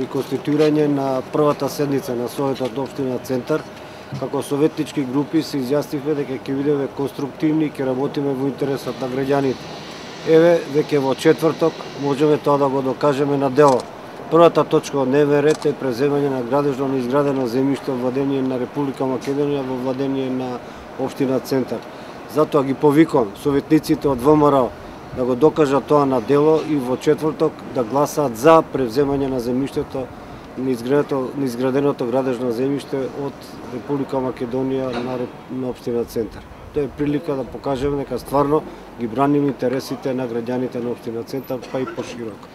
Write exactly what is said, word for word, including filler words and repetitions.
при конституирање на првата седница на Советот општина Центар, како советнички групи се изјаснивме дека ќе бидеме конструктивни и ќе работиме во интересот на граѓаните. Еве, веќе во четврток можеме тоа да го докажеме на дело. Првата точка од дневен ред е преземање на градежно неизградено земјиште во владение на Република Македонија во владение на општина Центар. Затоа ги повикувам советниците од ВМРО да го докажат тоа на дело и во четврток да гласаат за превземање на земјиштето на изграденото градежно земјиште од Република Македонија на, на општина Центар. Тоа е прилика да покажеме дека стварно ги браним интересите на граѓаните на општина Центар, па и пошироко.